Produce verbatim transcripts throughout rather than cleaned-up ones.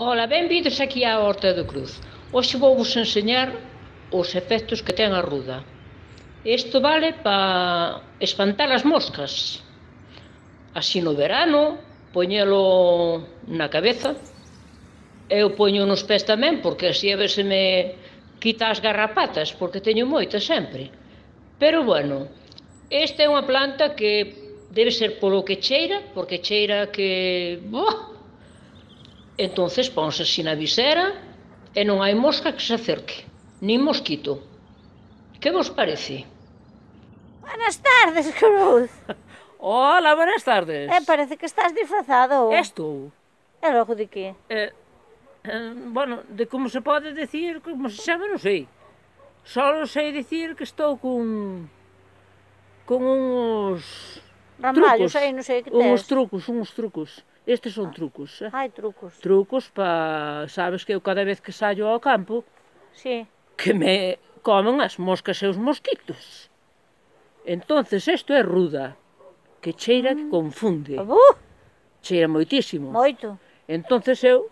Ola, benvidos aquí á Horta do Cruz. Hoxe vou vos enseñar os efectos que ten a ruda. Isto vale para espantar as moscas. Así no verano, poñelo na cabeza. Eu poño nos pés tamén, porque así a ver se me quita as garrapatas, porque teño moitas sempre. Pero bueno, esta é unha planta que debe ser polo que cheira, porque cheira que... Boh! Entonces ponse así na visera e non hai mosca que se acerque, nin mosquito. Que vos parece? Buenas tardes, Cruz. Hola, buenas tardes. Eh, parece que estás disfrazado. Estou. E logo de que? Eh, eh, bueno, de como se pode decir, como se chama, non sei. Só sei dicir que estou con... con uns... Ramallos, trucos. aí non sei que tes. Uns trucos, uns trucos. Estes son trucos, eh? Ai, trucos. Trucos para... Sabes que eu cada vez que saio ao campo, Sí. que me comen as moscas e os mosquitos. Entonces, isto é ruda, que cheira que confunde. Uh, Cheira moitísimo. moito. Entonces eu,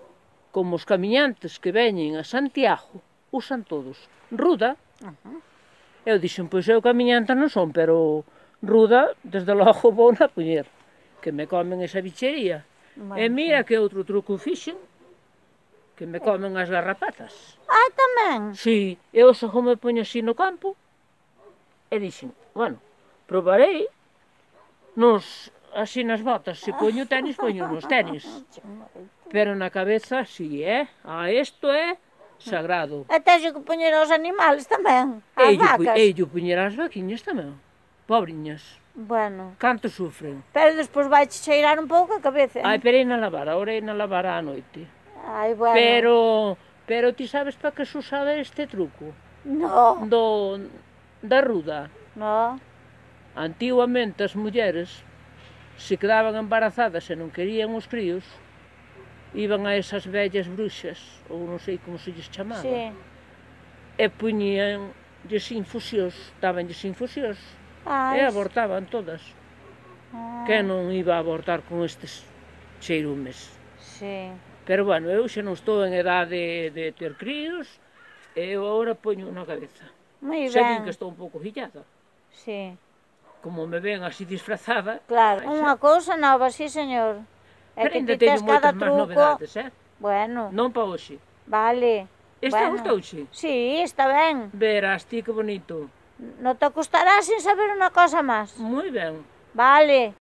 como os camiñantes que veñen a Santiago, usan todos ruda. Uh -huh. Eu dixen, pois eu camiñanta non son, pero ruda, desde logo vou na poñer, que me comen esa bichería. Bueno, E mira que outro truco fixen, que me comen as garrapatas. Ah, tamén? Si, eu só me poño así no campo, e dixen, bueno, probarei nos, así nas botas, se poño tenis, poño nos tenis. Pero na cabeza, si, é, ah, isto é sagrado. E teño que poñer aos animales tamén, as Ello, vacas. ello poñer as vaquiñas tamén, pobriñas. Bueno. Canto sufren. Pero despois vai cheirar un pouco a cabeza. Ai, pero na lavar, ahora na lavar á noite. Ai, bueno. Pero, pero ti sabes para que se usaba este truco? No. Do, da ruda. No. Antiguamente as mulleres, se quedaban embarazadas e non querían os críos, iban a esas vellas bruxas, ou non sei como se lles chamaba, Sí. e poñían lles infusións, dabanlles infusións, Ai. e abortaban todas. Ah. Que non iba a abortar con estes cheirumes? Sí. Pero bueno, eu xa non estou en edade de ter críos, e eu agora poño na cabeza. Moi Xa ben. din que estou un pouco fillada. Sí. Como me ven así disfrazada... Claro, ai, unha xa- cousa nova, sí, señor. É Pero que ainda ti tes teño cada moitas máis truco. novedades, eh? Bueno, Non pa hoxe. vale. Esta Bueno. gustouche? Sí, está ben. Verás ti que bonito. Non te costará sin saber unha cosa máis. Moi ben. Vale.